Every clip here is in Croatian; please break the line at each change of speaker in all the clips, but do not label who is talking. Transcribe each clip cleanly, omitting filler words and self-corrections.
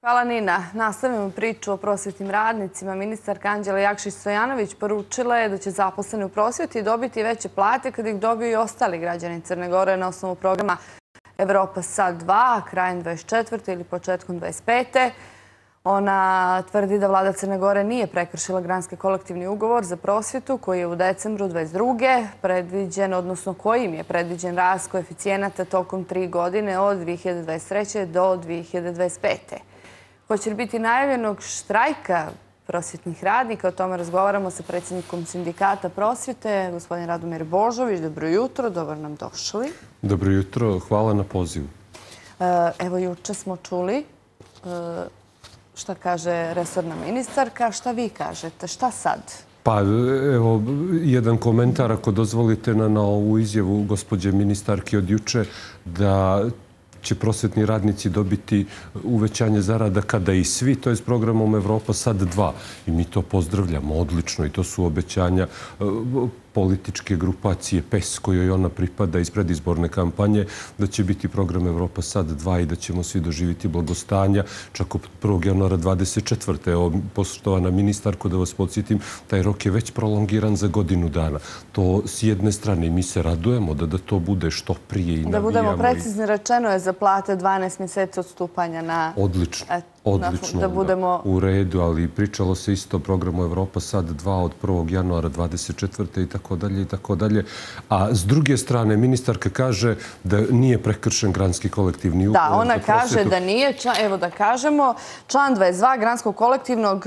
Hvala Nina. Nastavimo priču o prosvjetnim radnicima. Ministarka Anđela Jakšić-Stojanović poručila je da će zaposleni u prosvjeti dobiti veće plate kad ih dobiju i ostali građani Crne Gore na osnovu programa Evropa Sad 2, krajem 24. ili početkom 25. Ona tvrdi da vlada Crne Gore nije prekršila granski kolektivni ugovor za prosvjetu koji je u decembru 22. predviđen, odnosno kojim je predviđen rast koeficijenata tokom 3 godine od 2023. do 2025. Hoće li biti najavljenog štrajka prosvjetnih radnika? O tome razgovaramo sa predsjednikom sindikata prosvjete, gospodin Radomir Božović. Dobro jutro, dobro nam došli.
Dobro jutro, hvala na pozivu.
Evo, juče smo čuli šta kaže resorna ministarka. Šta vi kažete? Šta sad?
Pa evo, jedan komentar ako dozvolite na ovu izjavu gospođe ministarke od juče da će prosvjetni radnici dobiti uvećanje zarada kada i svi, to je s programom Evropa Sad 2. I mi to pozdravljamo odlično i to su obećanja političke grupacije PES kojoj ona pripada iz predizborne kampanje, da će biti program Evropa Sad 2 i da ćemo svi doživjeti blagostanja čak od 1. januara 24. Evo, poštovana ministarko, da vas podsjetim, taj rok je već prolongiran za godinu dana. To s jedne strane mi se radujemo da to bude što prije i navijamo.
Da budemo precizni, rečeno je za plate 12 mjeseci odstupanja na...
Odlično,
da budemo
u redu, ali pričalo se isto o programu Evropa Sad 2 od 1. januara 24. i tako dalje. A s druge strane, ministarka kaže da nije prekršen granski kolektivni ugovor.
Da, ona kaže da nije. Evo da kažemo, član 22 granskog kolektivnog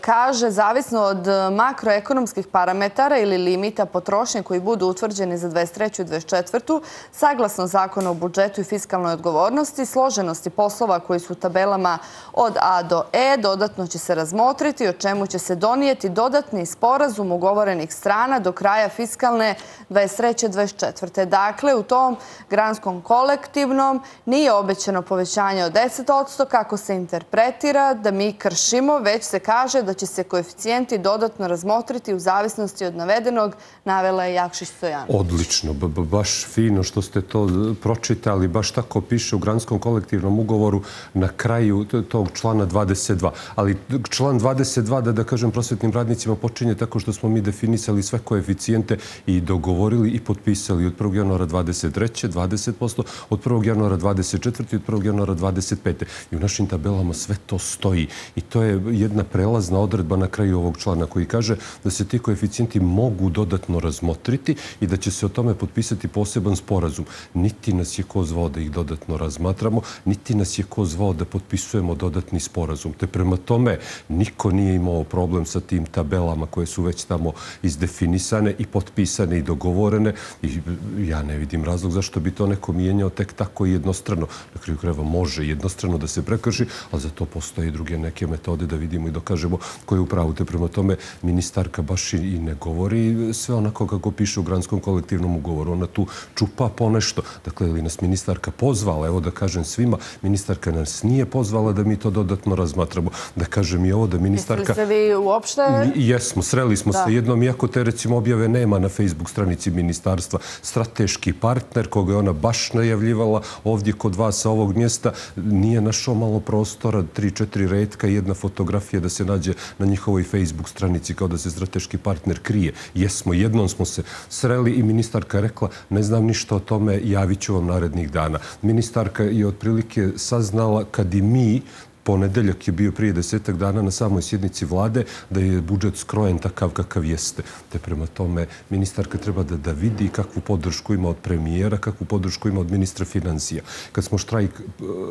kaže zavisno od makroekonomskih parametara ili limita potrošnje koji budu utvrđeni za 23. i 24. saglasno zakonu o budžetu i fiskalnoj odgovornosti, složenosti poslova koji su u tabelama od A do E dodatno će se razmotriti, o čemu će se donijeti dodatni sporazum ugovorenih strana do kraja fiskalne 23. 24. Dakle, u tom granskom kolektivnom nije obećano povećanje od 10%, kako se interpretira da mi kršimo, već se kaže da će se koeficijenti dodatno razmotriti u zavisnosti od navedenog, navela je Jakšić-Stojanović.
Odlično, baš fino što ste to pročitali, baš tako piše u granskom kolektivnom ugovoru na kraju tog člana 22. Ali član 22, da kažem, prosvjetnim radnicima počinje tako što smo mi definisali sve koeficijente i dogovorili i potpisali od 1. januara 23. 20%, od 1. januara 24. i od 1. januara 25. I u našim tabelama sve to stoji. I to je jedna prelazna odredba na kraju ovog člana koji kaže da se ti koeficijenti mogu dodatno razmotriti i da će se o tome potpisati poseban sporazum. Niti nas je ko zvao da ih dodatno razmatramo, niti nas je ko zvao da potpisujemo dodatni sporazum. Te prema tome niko nije imao problem sa tim tabelama koje su već tamo izdefinisane i potpisane i dogovorene i ja ne vidim razlog zašto bi to neko mijenjao tek tako jednostrano. Na kraju krajeva može jednostrano da se prekrši, ali za to postoje i druge neke metode da vidimo i dokažemo ko je u pravu. Te prema tome ministarka baš i ne govori sve onako kako piše u granskom kolektivnom ugovoru. Ona tu čupa ponešto. Dakle, ili nas ministarka pozvala, evo da kažem svima, ministarka nas nije pozvala da mi to dodatno razmatramo. Da kažem i ovo da ministarka...
Mislili ste vi uopšte?
Jesmo, sreli smo se jednom, iako te recimo objave nema na Facebook stranici ministarstva. Strateški partner koga je ona baš najavljivala ovdje kod vas sa ovog mjesta nije našao malo prostora, 3-4 retka i jedna fotografija da se nađe na njihovoj Facebook stranici kao da se strateški partner krije. Jesmo, jednom smo se sreli i ministarka rekla ne znam ništa o tome, javit ću vam narednih dana. Ministarka je otprilike saznala kad i mi ponedeljak je bio prije 10 dana na samoj sjednici vlade da je budžet skrojen takav kakav jeste. Te prema tome ministarka treba da vidi kakvu podršku ima od premijera, kakvu podršku ima od ministra financija. Kad smo štrajk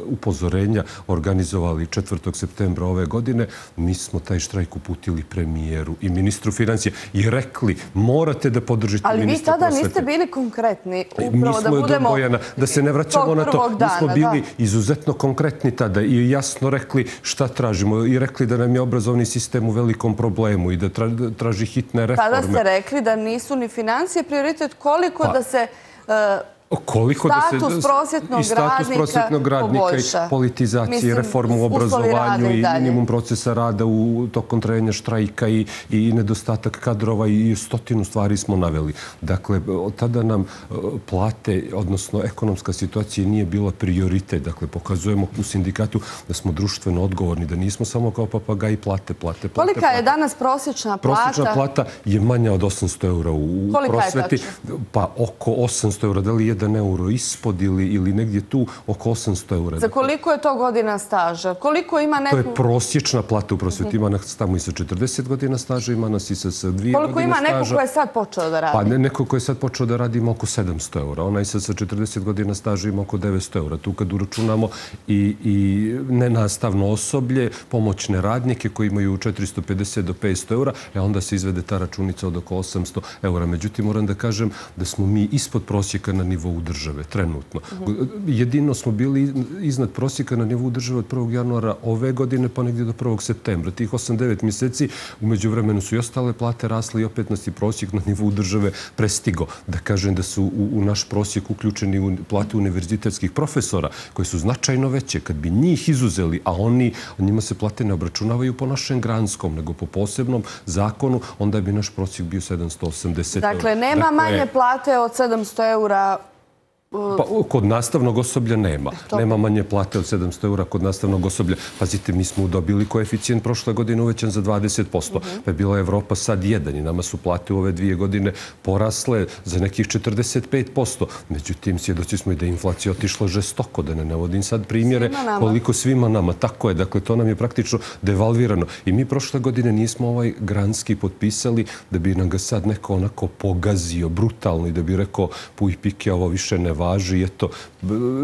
upozorenja organizovali 4. septembra ove godine, mi smo taj štrajk uputili premijeru i ministru financija i rekli morate da podržite ministra prosvete.
Ali vi tada niste bili konkretni. Upravo da budemo...
Bojana, da se ne vraćamo na to. Mi smo bili izuzetno konkretni tada i jasno rekli šta tražimo i rekli da nam je obrazovni sistem u velikom problemu i da traži hitne reforme.
Tada ste rekli da nisu ni financije prioritet, koliko da se status prosvjetnog radnika poboljša.
I politizacije, reformu u obrazovanju i minimum procesa rada tokom trajanja štrajka i nedostatak kadrova i stotinu stvari smo naveli. Dakle, tada nam plate, odnosno ekonomska situacija nije bila prioritet. Dakle, pokazujemo u sindikatu da smo društveno odgovorni, da nismo samo kao papagaji plate.
Kolika je danas prosječna plata?
Prosječna plata je manja od 800 eura u prosveti. Pa oko 800 eura, da li 1 euro ispod ili negdje tu oko 800 eura.
Za koliko je to godina staža? Koliko ima neku...
To je prosječna plata u prosveti. Ima nas tamo i sa 40 godina staža, ima nas i sa 2 godine staža.
Koliko ima neko ko je sad počeo da radi?
Pa neko ko je sad počeo da radi ima oko 700 eura. Onaj sad sa 40 godina staža ima oko 900 eura. Tu kad uračunamo i nenastavno osoblje, pomoćne radnike koji imaju 450 do 500 eura, onda se izvede ta računica od oko 800 eura. Međutim, moram da kažem da smo mi ispod prosjeka na nivou države, trenutno. Jedino smo bili iznad prosjeka na nivou države od 1. januara ove godine pa negdje do 1. septembra. Tih 8-9 mjeseci umeđu vremenu su i ostale plate rasle i opet nas i prosjek na nivou države prestigo. Da kažem da su u naš prosjek uključeni u plate univerzitetskih profesora koji su značajno veće. Kad bi njih izuzeli, a njima se plate ne obračunavaju po našem granskom, nego po posebnom zakonu, onda bi naš prosjek bio 780 eura.
Dakle, nema manje plate od 700 eura.
Kod nastavnog osoblja nema. Nema manje plate od 700 eura kod nastavnog osoblja. Pazite, mi smo dobili koeficijent prošle godine uvećan za 20%. Pa je bila Evropa sad 1 i nama su plate u ove 2 godine porasle za nekih 45%. Međutim, svjedoci smo i da je inflacija otišla žestoko, da ne navodim sad primjere koliko svima nama. Tako je, dakle, to nam je praktično devalvirano. I mi prošle godine nismo ovaj granski potpisali da bi nam ga sad neko onako pogazio brutalno i da bi rekao puj pike, ovo više ne važi, eto,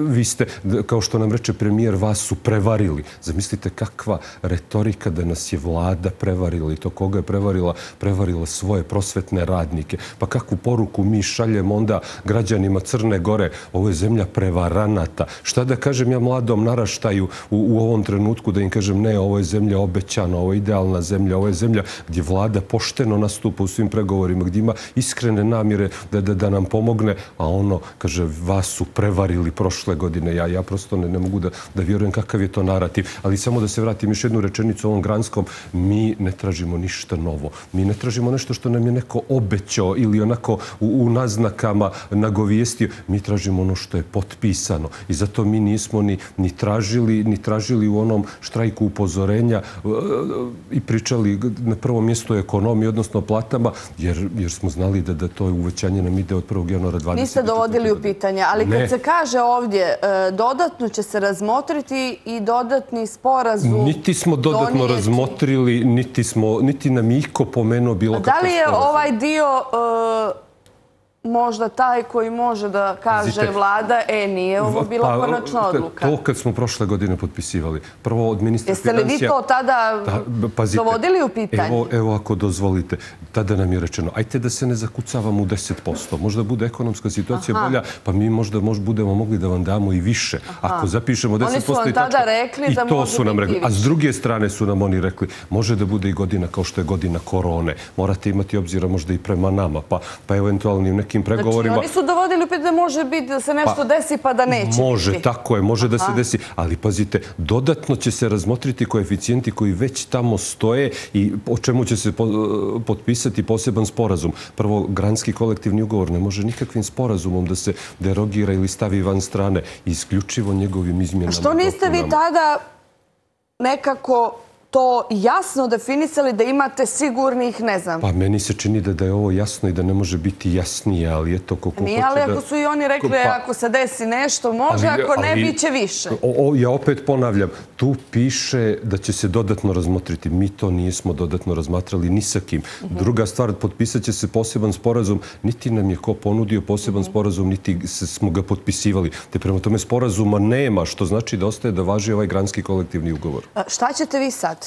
vi ste, kao što nam reče premijer, vas su prevarili. Zamislite kakva retorika da nas je vlada prevarila i to koga je prevarila? Prevarila svoje prosvetne radnike. Pa kakvu poruku mi šaljemo onda građanima Crne Gore? Ovo je zemlja prevaranata. Šta da kažem ja mladom naraštaju u ovom trenutku da im kažem ne, ovo je zemlja obećana, ovo je idealna zemlja, ovo je zemlja gdje vlada pošteno nastupa u svim pregovorima, gdje ima iskrene namjere da nam pomogne, a ono, kaže, vas su prevarili prošle godine. Ja prosto ne mogu da vjerujem kakav je to narativ. Ali samo da se vratim još jednu rečenicu o ovom granskom. Mi ne tražimo ništa novo. Mi ne tražimo nešto što nam je neko obećao ili onako u naznakama nagovijestio. Mi tražimo ono što je potpisano. I zato mi nismo ni tražili u onom štrajku upozorenja i pričali na prvom mjestu o ekonomiji, odnosno o platama, jer smo znali da to uvećanje nam ide od 1. januara 2024.
Niste dovodili u pitanje, ali kad se kaže ovdje dodatno će se razmotriti i dodatni sporazum donijeti.
Niti smo dodatno razmotrili, niti nam je iko pomenuo bilo kakav sporazum.
Da li je ovaj dio možda taj koji može da kaže vlada, nije ovo bila konačna odluka?
To kad smo prošle godine potpisivali. Prvo od ministra
financija... Jeste li vi to tada dovodili u pitanje?
Evo ako dozvolite, tada nam je rečeno, ajte da se ne zakucavamo u 10%. Možda bude ekonomska situacija bolja, pa mi možda budemo mogli da vam damo i više. Ako zapišemo 10%
oni su vam tada rekli da može biti više.
A s druge strane su nam oni rekli, može da bude i godina kao što je godina korone. Morate imati obzira možda i prema nama, pa eventualno i nekim pregovorima.
Znači, oni su dovodili upit da može biti da se nešto desi pa da neće biti.
Može, tako je, može da se desi. Ali pazite, dodatno će se razmotriti koeficijenti koji već tamo stoje i o čemu će se potpisati poseban sporazum. Prvo, granski kolektivni ugovor ne može nikakvim sporazumom da se derogira ili stavi van strane. Isključivo njegovim izmjenama.
A što niste vi tada nekako to jasno definisali da imate sigurnih, ne znam.
Pa meni se čini da je ovo jasno i da ne može biti jasnije, ali eto koliko hoće da...
Nije, ali ako su i oni rekli ako se desi nešto može, ako ne, bit će više.
Ja opet ponavljam, tu piše da će se dodatno razmotriti. Mi to nismo dodatno razmatrali ni sa kim. Druga stvar, potpisat će se poseban sporazum. Niti nam je ko ponudio poseban sporazum, niti smo ga potpisivali. Te prema tome sporazuma nema, što znači da ostaje da važi ovaj granski kolektivni ugovor.
Šta ćete vi sad?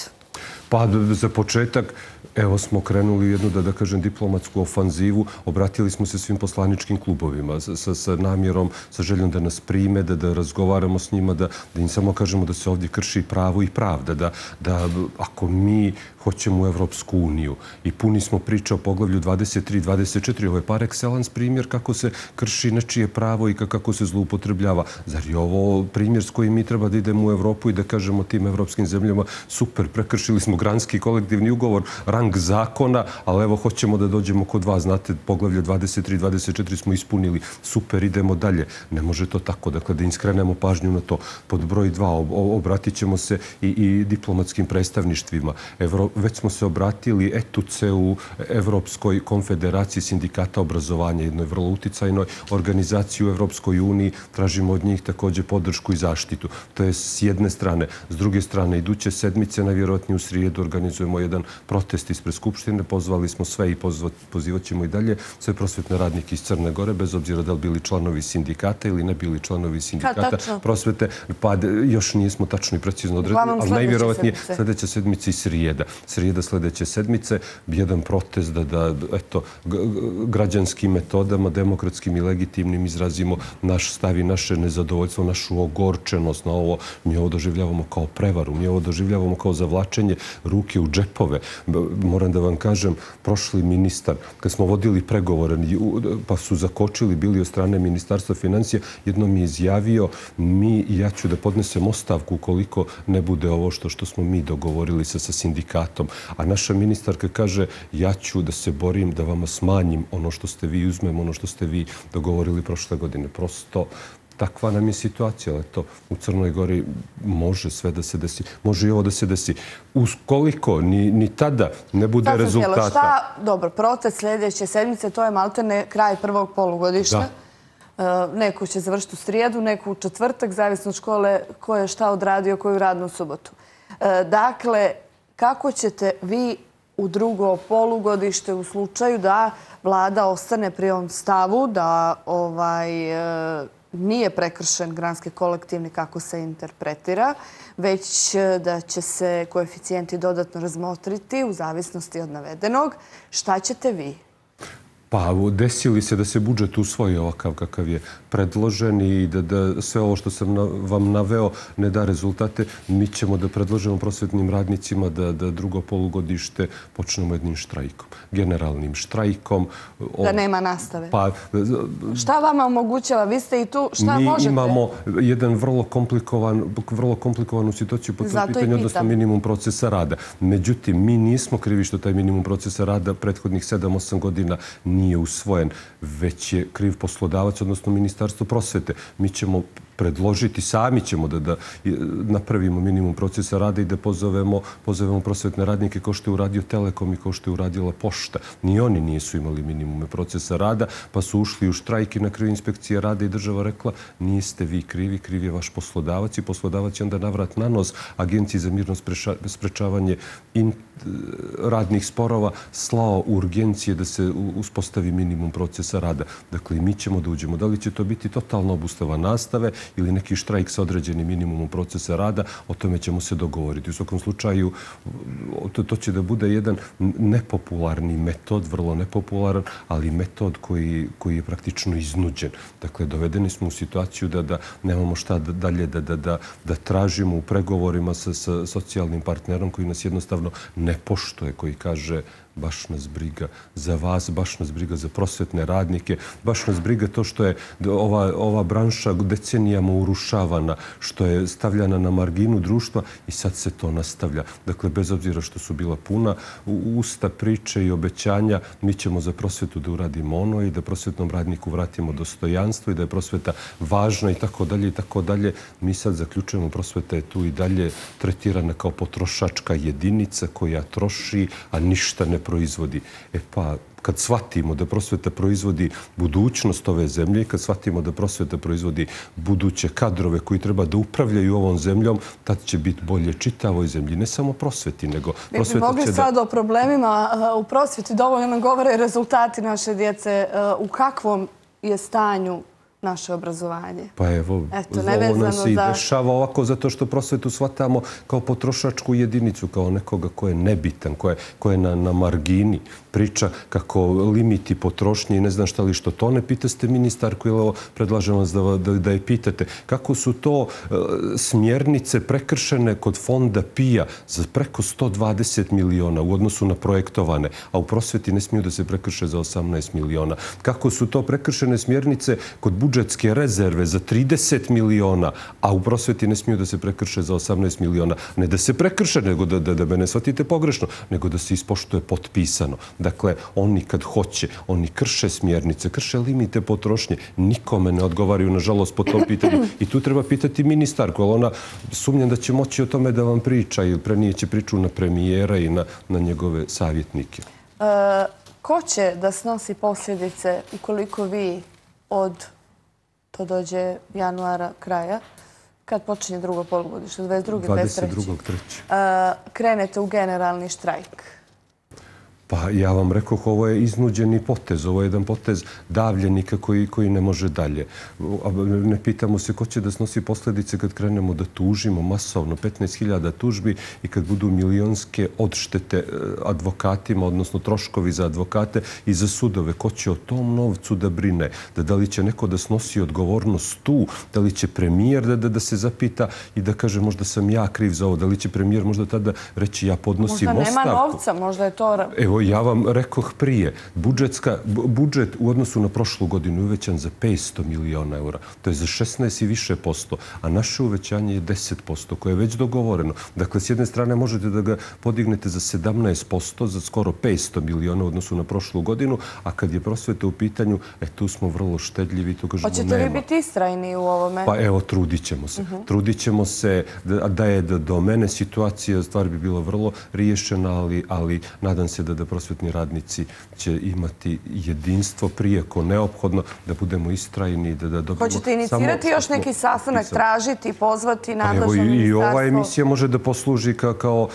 Pa za početak, evo smo krenuli jednu, da kažem, diplomatsku ofanzivu. Obratili smo se svim poslaničkim klubovima sa namjerom, sa željom da nas prime, da razgovaramo s njima, da im samo kažemo da se ovdje krši pravo i pravda. Da ako mi hoćemo u Evropsku uniju i puni smo priče o poglavlju 23 i 24, ovo je par excellence primjer kako se krši nečije pravo i kako se zloupotrebljava. Zar je ovo primjer s kojim mi treba da idemo u Evropu i da kažemo tim evropskim zemljama super, prekršili smo granski kolektivni ugovor, rang zakona, ali evo hoćemo da dođemo kod vas, znate, poglavlje 23 i 24 smo ispunili, super, idemo dalje. Ne može to tako, dakle, da im skrenemo pažnju na to. Pod broj 2, obratit ćemo se i diplomatskim predstavništvima. Već smo se obratili ETUC-u, Evropskoj konfederaciji sindikata obrazovanja, jednoj vrlo uticajnoj organizaciji u Evropskoj uniji. Tražimo od njih također podršku i zaštitu. To je s jedne strane. S druge strane, iduće sedmice, najvjerojatnije u srijedu, organizujemo jedan protest ispred Skupštine. Pozvali smo sve i pozivat ćemo i dalje sve prosvetne radnike iz Crne Gore, bez obzira da li bili članovi sindikata ili ne bili članovi sindikata prosvete. Pa još nismo tačno i precizno odredili, ali najvjerojatnije sljedeća sedmica i srijeda sljedeće sedmice, jedan protest da građanskim metodama, demokratskim i legitimnim izrazimo naš stav i naše nezadovoljstvo, našu ogorčenost na ovo. Mi ovo doživljavamo kao prevaru, mi ovo doživljavamo kao zavlačenje ruke u džepove. Moram da vam kažem, prošli ministar, kad smo vodili pregovore, pa su zakočili bili od strane Ministarstva financija, jednom je izjavio, ja ću da podnesem ostavku ukoliko ne bude ovo što smo mi dogovorili sa sindikatom. A naša ministarka kaže, ja ću da se borim da vama smanjim ono što ste vi, uzmem ono što ste vi dogovorili prošle godine. Prosto takva nam je situacija, ali to u Crnoj Gori može sve da se desi. Može i ovo da se desi. Ukoliko ni tada ne bude rezultata...
Dobro, protest sljedeće sedmice, to je maltene kraj prvog polugodišta. Neko će završiti u srijedu, neko u četvrtak, zavisno od škole ko je šta odradio, koju radnu subotu. Dakle, kako ćete vi u drugo polugodište u slučaju da vlada ostane pri ovom stavu, da nije prekršen granski kolektivni kako se interpretira, već da će se koeficijenti dodatno razmotriti u zavisnosti od navedenog. Šta ćete vi?
Pa desili se da se budžet usvoji ovakav kakav je predložen i da sve ovo što sam vam naveo ne da rezultate, mi ćemo da predložimo prosvetnim radnicima da drugo polugodište počnemo jednim štrajkom, generalnim štrajkom.
Da nema nastave. Šta vama omogućava? Vi ste i tu, šta možete?
Mi imamo jedan vrlo komplikovanu situaciju po tom pitanju, odnosno minimum procesa rada. Međutim, mi nismo krivi što taj minimum procesa rada prethodnih 7-8 godina nije usvojen, već je kriv poslodavac, odnosno Ministarstvo prosvete. Mi ćemo predložiti, sami ćemo da napravimo minimum procesa rada i da pozovemo prosvetne radnike kao što je uradio Telekom i kao što je uradila Pošta. Ni oni nisu imali minimume procesa rada, pa su ušli u štrajk i na kraju inspekcija rada i država rekla niste vi krivi, kriv je vaš poslodavac i poslodavac je onda navrat na nos Agenciji za mirno sprečavanje radnih sporova slao urgencije da se uspostavi minimum procesa rada. Dakle, mi ćemo da uđemo. Da li će to biti totalna obustava nastave ili neki štrajk sa određenim minimumom procesa rada, o tome ćemo se dogovoriti. U svakom slučaju, to će da bude jedan nepopularni metod, vrlo nepopularan, ali metod koji je praktično iznuđen. Dakle, dovedeni smo u situaciju da nemamo šta dalje da tražimo u pregovorima sa socijalnim partnerom koji nas jednostavno ne poštuje, koji kaže baš nas briga za vas, baš nas briga za prosvetne radnike, baš nas briga to što je ova branša decenijama urušavana, što je stavljana na marginu društva i sad se to nastavlja. Dakle, bez obzira što su bila puna usta, priče i obećanja, mi ćemo za prosvetu da uradimo ono i da prosvetnom radniku vratimo dostojanstvo i da je prosveta važna i tako dalje i tako dalje. Mi sad zaključujemo, prosveta je tu i dalje tretirana kao potrošačka jedinica koja troši, a ništa ne proizvodi. Pa, kad shvatimo da prosveta proizvodi budućnost ove zemlje i kad shvatimo da prosveta proizvodi buduće kadrove koji treba da upravljaju ovom zemljom, tad će biti bolje čitavoj zemlji. Ne samo prosveti, nego prosveta će da...
Mi bi mogli sad o problemima u prosveti dovoljno nam govore rezultati naše djece. U kakvom je stanju naše obrazovanje.
Pa evo, ovo nam se i dešava ovako zato što prosvetu shvatamo kao potrošačku jedinicu, kao nekoga ko je nebitan, ko je na margini. Priča kako limiti potrošnje i ne znam šta li što. To ne pitaste ministarku ili ovo predlažem vas da je pitate. Kako su to smjernice prekršene kod fonda PIA za preko 120 miliona u odnosu na projektovane, a u prosveti ne smiju da se prekrše za 18 miliona. Kako su to prekršene smjernice kod budžetske rezerve za 30 miliona, a u prosveti ne smiju da se prekrše za 18 miliona. Ne da se prekrše, nego da me ne shvatite pogrešno, nego da se ispoštuje potpisano. Dakle, oni kad hoće, oni krše smjernice, krše limite potrošnje, nikome ne odgovaraju, nažalost, po tom pitanju. I tu treba pitati ministarku, ali ona sumnjam da će moći o tome da vam priča ili prenijeće priču na premijera i na njegove savjetnike.
Ko će da snosi posljedice ukoliko vi od, to dođe januara kraja, kad počinje drugo polugodište, 22. krenete u generalni štrajk?
Pa ja vam rekoh, ovo je iznuđeni potez, ovo je jedan potez davljenika koji ne može dalje. Ne pitamo se ko će da snosi posljedice kad krenemo da tužimo masovno 15.000 tužbi i kad budu milionske odštete advokatima, odnosno troškovi za advokate i za sudove. Ko će o tom novcu da brine? Da li će neko da snosi odgovornost tu? Da li će premijer da se zapita i da kaže možda sam ja kriv za ovo? Da li će premijer možda tada reći ja podnosim ostavku?
Možda nema novca, možda je to...
Evo, ja vam rekoh prije, budžet u odnosu na prošlu godinu je uvećan za 500 miliona eura. To je za 16 i više posto, a naše uvećanje je 10%, koje je već dogovoreno. Dakle, s jedne strane možete da ga podignete za 17%, za skoro 500 miliona u odnosu na prošlu godinu, a kad je prosveta u pitanju, tu smo vrlo štedljivi, tu kažemo nema.
Hoćete li biti istrajni u ovome?
Pa evo, trudit ćemo se. Trudit ćemo se da je do mene situacija, stvar bi bila vrlo riješena, ali nadam se da prosvetni radnici će imati jedinstvo prije ko neophodno, da budemo istrajni, da dobimo...
Hoćete inicirati još neki sastanak, tražiti, pozvati nadležno ministarstvo?
I ova emisija može da posluži kao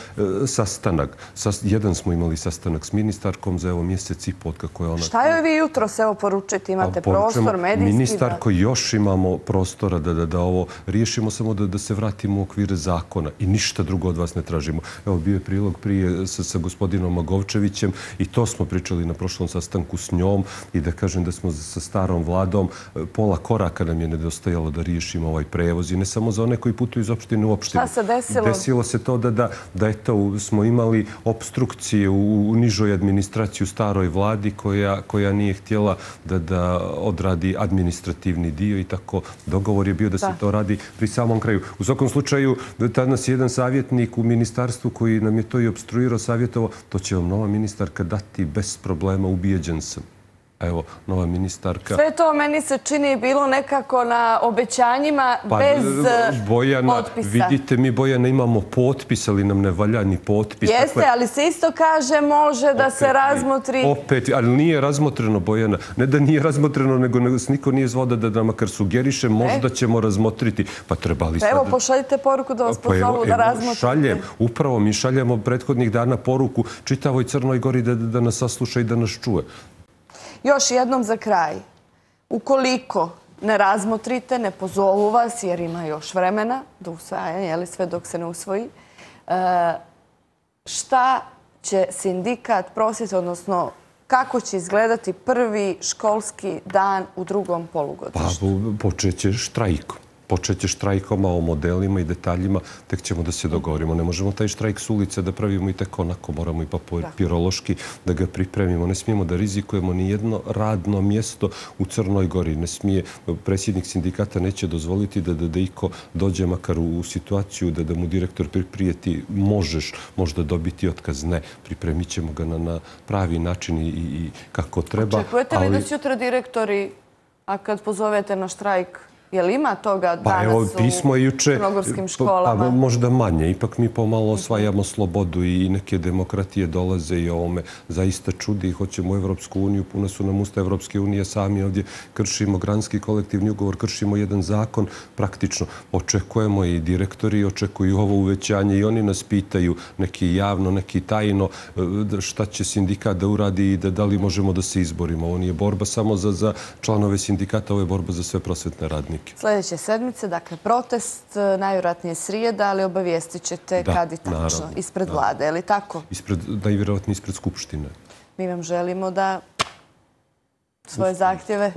sastanak. Jedan smo imali sastanak s ministarkom za mjesec i pol, kako je ona...
Šta joj vi jutro se poručiti? Imate prostor, medijski?
Ministarko, još imamo prostora da ovo riješimo, samo da se vratimo u okvire zakona i ništa drugo od vas ne tražimo. Evo, bio je prilog prije sa gospodinom Magovčevićem i to smo pričali na prošlom sastanku s njom i da kažem da smo sa starom vladom pola koraka nam je nedostajalo da riješimo ovaj prevoz i ne samo za one koji putuju iz opštine u opštinu.
Šta se desilo?
Desilo se to da smo imali obstrukcije u nižoj administraciji u staroj vladi koja nije htjela da odradi administrativni dio i tako dogovor je bio da se to radi pri samom kraju. U svakom slučaju, tada nas je jedan savjetnik u ministarstvu koji nam je to i obstruirao, savjetovo, to će vam nova ministarka dati bez problema, ubijeđen sam. Evo, nova ministarka...
Sve to meni se čini bilo nekako na obećanjima bez potpisa.
Vidite, mi, Bojana, imamo potpis, ali nam ne valja ni potpis.
Jeste, ali se isto kaže može da se razmotri...
Opet, ali nije razmotreno, Bojana. Ne da nije razmotreno, nego niko nije zvao da nam makar sugeriše, možda ćemo razmotriti. Pa trebali sad...
Evo, pošaljite poruku da vas pozovu da razmotrite.
Šaljem, upravo mi šaljemo prethodnih dana poruku čitavoj Crnoj Gori da nas sasluša i da nas čuje.
Još jednom za kraj, ukoliko ne razmotrite, ne pozovu vas, jer ima još vremena do usvajanja, sve dok se ne usvoji, šta će sindikat prosvjete, odnosno kako će izgledati prvi školski dan u drugom polugodištu?
Pa počeće štrajkom. Počeće štrajkom, a o modelima i detaljima tek ćemo da se dogovorimo. Ne možemo taj štrajk s ulice da pravimo i tek onako. Moramo i papirološki da ga pripremimo. Ne smijemo da rizikujemo ni jedno radno mjesto u Crnoj Gori. Ne smije, predsjednik sindikata neće dozvoliti da iko dođe makar u situaciju da mu direktor prijeti možeš možda dobiti otkaz. Ne, pripremit ćemo ga na pravi način i kako treba.
Očekujete li da će sutra direktori, a kad pozovete na štrajk, Je li ima toga danas u crnogorskim školama?
Pa možda manje. Ipak mi pomalo osvajamo slobodu i neke demokratije dolaze i ovo me zaista čudi. Hoćemo u Evropsku uniju, puno su nam usta Evropske unije, sami ovdje kršimo granski kolektivni ugovor, kršimo jedan zakon. Praktično očekujemo i direktori očekuju ovo uvećanje i oni nas pitaju neki javno, neki tajno šta će sindikat da uradi i da li možemo da se izborimo. Ovo nije borba samo za članove sindikata, ovo je borba za sve prosvetne radnike.
Sljedeće sedmice, dakle, protest, najvjerojatnije srijeda, ali obavijestit ćete kad i tačno. Ispred vlade, je li tako?
Najvjerojatnije ispred Skupštine.
Mi vam želimo da svoje zahtjeve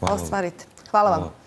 ostvarite. Hvala vam.